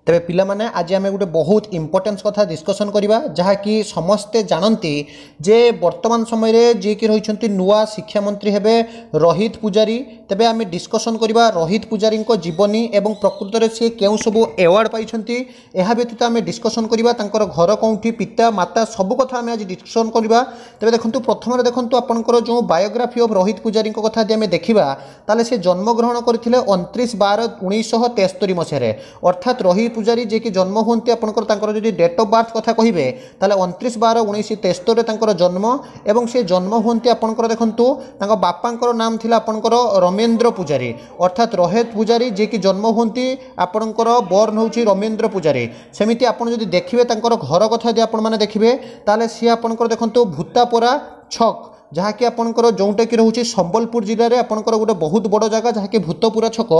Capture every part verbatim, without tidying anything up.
ତେବେ ପିଲାମାନେ, ଆଜି ଆମେ ଗୋଟେ ବହୁତ ଇମ୍ପୋର୍ଟାନ୍ସ କଥା ଡିସ୍କସନ୍ କରିବା, ଯାହାକି ସମସ୍ତେ ଜାଣନ୍ତି ଯେ ବର୍ତ୍ତମାନ ସମୟରେ ଯିଏକି ରହିଛନ୍ତି ନୂଆ ଶିକ୍ଷାମନ୍ତ୍ରୀ ହେବେ ରୋହିତ ପୂଜାରୀ। ତେବେ ଆମେ ଡିସ୍କସନ୍ କରିବା ରୋହିତ ପୂଜାରୀଙ୍କ ଜୀବନୀ ଏବଂ ପ୍ରକୃତରେ ସେ କେଉଁ ସବୁ ଆୱାର୍ଡ଼ ପାଇଛନ୍ତି। ଏହା ବ୍ୟତୀତ ଆମେ ଡିସ୍କସନ୍ କରିବା ତାଙ୍କର ଘର କେଉଁଠି, ପିତା ମାତା, ସବୁ କଥା ଆମେ ଆଜି ଡିସ୍କସନ୍ କରିବା। ତେବେ ଦେଖନ୍ତୁ, ପ୍ରଥମରେ ଦେଖନ୍ତୁ, ଆପଣଙ୍କର ଯେଉଁ ବାୟୋଗ୍ରାଫି ଅଫ୍ ରୋହିତ ପୂଜାରୀଙ୍କ କଥା ଯଦି ଆମେ ଦେଖିବା, ତାହେଲେ ସେ ଜନ୍ମଗ୍ରହଣ କରିଥିଲେ ଅଣତିରିଶ ବାର ଉଣେଇଶହ ତେସ୍ତରୀ ମସିହାରେ। ଅର୍ଥାତ୍ ରୋହିତ ପୂଜାରୀ ଯିଏକି ଜନ୍ମ ହୁଅନ୍ତି ଆପଣଙ୍କର, ତାଙ୍କର ଯଦି ଡେଟ୍ ଅଫ୍ ବାର୍ଥ କଥା କହିବେ, ତାହେଲେ ଅଣତିରିଶ ବାର ଉଣେଇଶ ତେସ୍ତରୀରେ ତାଙ୍କର ଜନ୍ମ ଏବଂ ସେ ଜନ୍ମ ହୁଅନ୍ତି ଆପଣଙ୍କର, ଦେଖନ୍ତୁ, ତାଙ୍କ ବାପାଙ୍କର ନାମ ଥିଲା ଆପଣଙ୍କର ରମେନ୍ଦ୍ର ପୂଜାରୀ। ଅର୍ଥାତ୍ ରୋହିତ ପୂଜାରୀ ଯିଏକି ଜନ୍ମ ହୁଅନ୍ତି ଆପଣଙ୍କର, ବର୍ନ ହେଉଛି ରମେନ୍ଦ୍ର ପୂଜାରୀ। ସେମିତି ଆପଣ ଯଦି ଦେଖିବେ, ତାଙ୍କର ଘର କଥା ଯଦି ଆପଣମାନେ ଦେଖିବେ, ତାହେଲେ ସିଏ ଆପଣଙ୍କର ଦେଖନ୍ତୁ ଭୂତାପରା ଛକ, ଯାହାକି ଆପଣଙ୍କର ଯେଉଁଟାକି ରହୁଛି ସମ୍ବଲପୁର ଜିଲ୍ଲାରେ, ଆପଣଙ୍କର ଗୋଟେ ବହୁତ ବଡ଼ ଜାଗା ଯାହାକି ଭୂତପୁରା ଛକ।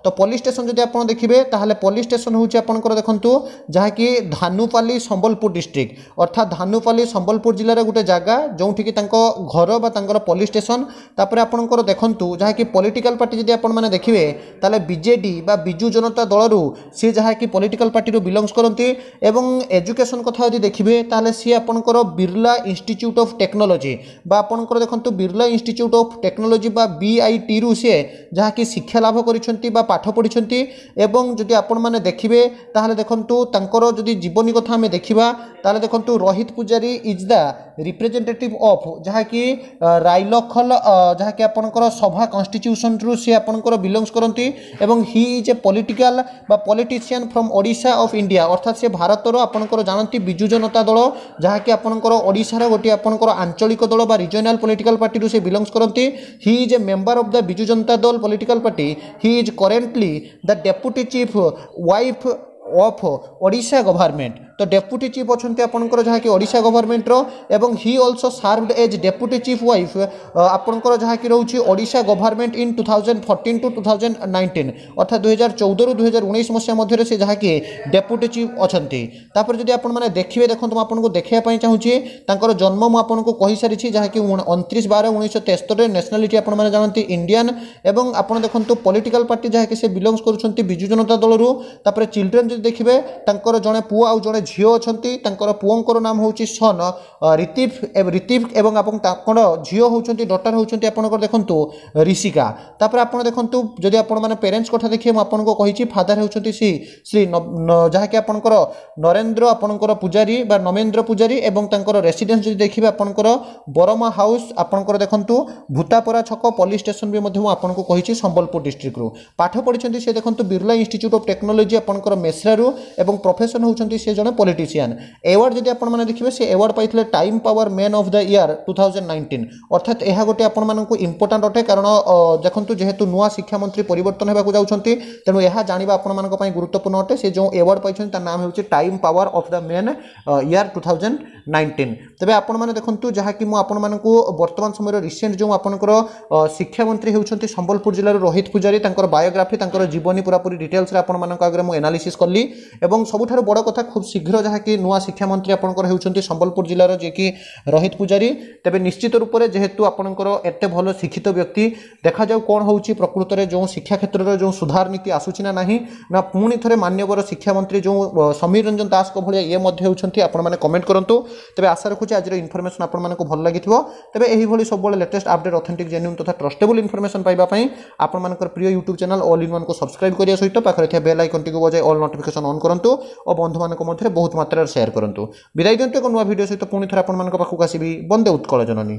ତ ପୋଲିସ ଷ୍ଟେସନ ଯଦି ଆପଣ ଦେଖିବେ, ତାହେଲେ ପୋଲିସ ଷ୍ଟେସନ ହେଉଛି ଆପଣଙ୍କର ଦେଖନ୍ତୁ ଯାହାକି ଧାନୁପାଲି, ସମ୍ବଲପୁର ଡିଷ୍ଟ୍ରିକ୍ଟ। ଅର୍ଥାତ୍ ଧାନୁପାଲି ସମ୍ବଲପୁର ଜିଲ୍ଲାରେ ଗୋଟେ ଜାଗା ଯେଉଁଠିକି ତାଙ୍କ ଘର ବା ତାଙ୍କର ପୋଲିସ ଷ୍ଟେସନ। ତାପରେ ଆପଣଙ୍କର ଦେଖନ୍ତୁ ଯାହାକି ପଲିଟିକାଲ ପାର୍ଟି ଯଦି ଆପଣମାନେ ଦେଖିବେ, ତାହେଲେ ବିଜେଡି ବା ବିଜୁ ଜନତା ଦଳରୁ ସିଏ ଯାହାକି ପଲିଟିକାଲ ପାର୍ଟିରୁ ବିଲଙ୍ଗସ୍ କରନ୍ତି। ଏବଂ ଏଜୁକେସନ୍ କଥା ଯଦି ଦେଖିବେ, ତାହେଲେ ସିଏ ଆପଣଙ୍କର ବିର୍ଲା ଇନଷ୍ଟିଚ୍ୟୁଟ୍ ଅଫ୍ ଟେକ୍ନୋଲୋଜି ବା ଆପଣଙ୍କର ଦେଖନ୍ତୁ ବିର୍ଲା ଇନଷ୍ଟିଚ୍ୟୁଟ୍ ଅଫ୍ ଟେକ୍ନୋଲୋଜି ବା ବିଆଇଟିରୁ ସିଏ ଯାହାକି ଶିକ୍ଷା ଲାଭ କରିଛନ୍ତି ବା ପାଠ ପଢ଼ିଛନ୍ତି। ଏବଂ ଯଦି ଆପଣମାନେ ଦେଖିବେ, ତାହେଲେ ଦେଖନ୍ତୁ, ତାଙ୍କର ଯଦି ଜୀବନୀ କଥା ଆମେ ଦେଖିବା, ତାହେଲେ ଦେଖନ୍ତୁ, Rohit Pujari is the representative of ଯାହାକି ରାଇଲଖଲ, ଯାହାକି ଆପଣଙ୍କର ସଭା କନଷ୍ଟିଚ୍ୟୁସନରୁ ସିଏ ଆପଣଙ୍କର ବିଲଙ୍ଗସ୍ କରନ୍ତି ଏବଂ he is a political ବା politician from Odisha of India। ଅର୍ଥାତ୍ ସେ ଭାରତର ଆପଣଙ୍କର ଜାଣନ୍ତି ବିଜୁ ଜନତା ଦଳ, ଯାହାକି ଆପଣଙ୍କର ଓଡ଼ିଶାର ଗୋଟିଏ ଆପଣଙ୍କର ଆଞ୍ଚଳିକ ଦଳ ବା ରିଜନାଲ ପଲିଟିକାଲ ପାର୍ଟିରୁ ସେ ବିଲଙ୍ଗସ୍ କରନ୍ତି। He is a member of the Biju Janata Dal political party. He is currently the deputy chief whip of Odisha government। ତ ଡେପୁଟି ଚିଫ୍ ଅଛନ୍ତି ଆପଣଙ୍କର ଯାହାକି ଓଡ଼ିଶା ଗଭର୍ଣ୍ଣମେଣ୍ଟର ଏବଂ he also served as deputy chief whip ଆପଣଙ୍କର ଯାହାକି ରହୁଛି Odisha government in two thousand fourteen to two thousand nineteen। ଅର୍ଥାତ୍ ଦୁଇହଜାର ଚଉଦରୁ ଦୁଇହଜାର ଉଣେଇଶ ମସିହା ମଧ୍ୟରେ ସେ ଯାହାକି ଡେପୁଟି ଚିଫ୍ ଅଛନ୍ତି। ତାପରେ ଯଦି ଆପଣମାନେ ଦେଖିବେ, ଦେଖନ୍ତୁ, ମୁଁ ଆପଣଙ୍କୁ ଦେଖିବା ପାଇଁ ଚାହୁଁଛି, ତାଙ୍କର ଜନ୍ମ ମୁଁ ଆପଣଙ୍କୁ କହିସାରିଛି, ଯାହାକି ଅଣତିରିଶ ବାର ଉଣେଇଶହ ତେସ୍ତରୀରେ। ନ୍ୟାସନାଲିଟି ଆପଣମାନେ ଜାଣନ୍ତି ଇଣ୍ଡିଆନ୍ ଏବଂ ଆପଣ ଦେଖନ୍ତୁ ପଲିଟିକାଲ ପାର୍ଟି ଯାହାକି ସେ ବିଲଙ୍ଗସ୍ କରୁଛନ୍ତି ବିଜୁ ଜନତା ଦଳରୁ। ତାପରେ ଚିଲଡ୍ରେନ୍ ଯଦି ଦେଖିବେ, ତାଙ୍କର ଜଣେ ପୁଅ ଆଉ ଜଣେ ଝିଅ ଅଛନ୍ତି। ତାଙ୍କର ପୁଅଙ୍କର ନାମ ହେଉଛି ସନ୍ ରିତିଫ ରିତିଫ ଏବଂ ଆପଣ ତାଙ୍କର ଝିଅ ହେଉଛନ୍ତି, ଡଟର ହେଉଛନ୍ତି ଆପଣଙ୍କର ଦେଖନ୍ତୁ ରିଷିକା। ତାପରେ ଆପଣ ଦେଖନ୍ତୁ, ଯଦି ଆପଣମାନେ ପ୍ୟାରେଣ୍ଟସ୍ କଥା ଦେଖିବେ, ମୁଁ ଆପଣଙ୍କୁ କହିଛି ଫାଦର ହେଉଛନ୍ତି ଶ୍ରୀ ଶ୍ରୀ ଯାହାକି ଆପଣଙ୍କର ନରେନ୍ଦ୍ର ଆପଣଙ୍କର ପୂଜାରୀ ବା ନମେନ୍ଦ୍ର ପୂଜାରୀ ଏବଂ ତାଙ୍କର ରେସିଡେନ୍ସ ଯଦି ଦେଖିବେ, ଆପଣଙ୍କର ବରମା ହାଉସ୍, ଆପଣଙ୍କର ଦେଖନ୍ତୁ ଭୂତାପରା ଛକ, ପୋଲିସ ଷ୍ଟେସନ ବି ମଧ୍ୟ ମୁଁ ଆପଣଙ୍କୁ କହିଛି ସମ୍ବଲପୁର ଡିଷ୍ଟ୍ରିକ୍ଟରୁ। ପାଠ ପଢ଼ିଛନ୍ତି ସେ ଦେଖନ୍ତୁ ବିର୍ଲା ଇନଷ୍ଟିଚ୍ୟୁଟ୍ ଅଫ୍ ଟେକ୍ନୋଲୋଜି ଆପଣଙ୍କର ମେସ୍ରାରୁ ଏବଂ ପ୍ରଫେସନ୍ ହେଉଛନ୍ତି ସେ ଜଣେ ପଲିଟିସିଆନ୍। ଏୱାର୍ଡ଼ ଯଦି ଆପଣମାନେ ଦେଖିବେ, ସେ ଏୱାର୍ଡ଼ ପାଇଥିଲେ Time Power Man of the Year two thousand nineteen। ଅର୍ଥାତ୍ ଏହା ଗୋଟେ ଆପଣମାନଙ୍କୁ ଇମ୍ପୋର୍ଟାଣ୍ଟ ଅଟେ, କାରଣ ଦେଖନ୍ତୁ, ଯେହେତୁ ନୂଆ ଶିକ୍ଷାମନ୍ତ୍ରୀ ପରିବର୍ତ୍ତନ ହେବାକୁ ଯାଉଛନ୍ତି, ତେଣୁ ଏହା ଜାଣିବା ଆପଣମାନଙ୍କ ପାଇଁ ଗୁରୁତ୍ୱପୂର୍ଣ୍ଣ ଅଟେ। ସେ ଯେଉଁ ଏୱାର୍ଡ଼ ପାଇଛନ୍ତି, ତା ନାମ ହେଉଛି Time Power of the Man Year two thousand nineteen। ତେବେ ଆପଣମାନେ ଦେଖନ୍ତୁ, ଯାହାକି ମୁଁ ଆପଣମାନଙ୍କୁ ବର୍ତ୍ତମାନ ସମୟରେ ରିସେଣ୍ଟ ଯେଉଁ ଆପଣଙ୍କର ଶିକ୍ଷାମନ୍ତ୍ରୀ ହେଉଛନ୍ତି ସମ୍ବଲପୁର ଜିଲ୍ଲାର ରୋହିତ ପୂଜାରୀ, ତାଙ୍କର ବାୟୋଗ୍ରାଫି, ତାଙ୍କର ଜୀବନୀ ପୁରାପୁରି ଡିଟେଲ୍ସରେ ଆପଣମାନଙ୍କ ଆଗରେ ମୁଁ ଏନାଲିସିସ୍ କଲି। ଏବଂ ସବୁଠାରୁ ବଡ଼ କଥା, ଖୁବ୍ ଶୀଘ୍ର ଯାହାକି ନୂଆ ଶିକ୍ଷାମନ୍ତ୍ରୀ ଆପଣଙ୍କର ହେଉଛନ୍ତି ସମ୍ବଲପୁର ଜିଲ୍ଲାର ଯିଏକି ରୋହିତ ପୂଜାରୀ। ତେବେ ନିଶ୍ଚିତ ରୂପରେ ଯେହେତୁ ଆପଣଙ୍କର ଏତେ ଭଲ ଶିକ୍ଷିତ ବ୍ୟକ୍ତି, ଦେଖାଯାଉ କ'ଣ ହେଉଛି, ପ୍ରକୃତରେ ଯେଉଁ ଶିକ୍ଷା କ୍ଷେତ୍ରରେ ଯେଉଁ ସୁଧାର ନୀତି ଆସୁଛି ନା ନାହିଁ, ନା ପୁଣି ଥରେ ମାନ୍ୟବର ଶିକ୍ଷାମନ୍ତ୍ରୀ ଯେଉଁ ସମୀର ରଞ୍ଜନ ଦାସଙ୍କ ଭଳିଆ ଇଏ ମଧ୍ୟ ହେଉଛନ୍ତି, ଆପଣମାନେ କମେଣ୍ଟ କରନ୍ତୁ। ତେବେ ଆଶା ରଖୁଛି ଆଜିର ଇନଫର୍ମେସନ୍ ଆପଣମାନଙ୍କୁ ଭଲ ଲାଗିଥିବ। ତେବେ ଏହିଭଳି ସବୁବେଳେ ଲେଟେଷ୍ଟ ଅପଡେଟ୍, ଅଥେଣ୍ଟିକ୍, ଜେନ୍ୟୁନ୍ ତଥା ଟ୍ରଷ୍ଟେବଲ୍ ଇନଫର୍ମେସନ୍ ପାଇବା ପାଇଁ ଆପଣମାନଙ୍କର ପ୍ରିୟ ୟୁଟ୍ୟୁବ୍ ଚ୍ୟାନେଲ୍ ଅଲ୍ ଇନ୍ ୱାନ୍କୁ ସବସ୍କ୍ରାଇବ୍ କରିବା ସହିତ ପାଖରେ ଥିବା ବେଲ୍ ଆଇକନ୍ଟିକୁ ବଜାଇ ଅଲ୍ ନୋଟିଫିକେସନ୍ ଅନ୍ କରନ୍ତୁ ଓ ବନ୍ଧୁମାନଙ୍କ ମଧ୍ୟରେ ବହୁତ ମାତ୍ରାରେ ସେୟାର କରନ୍ତୁ। ବିଦାୟ ଦିଅନ୍ତୁ। ଏକ ନୂଆ ଭିଡ଼ିଓ ସହିତ ପୁଣି ଥରେ ଆପଣମାନଙ୍କ ପାଖକୁ ଆସିବି। ବନ୍ଦେ ଉତ୍କଳ ଜନନୀ।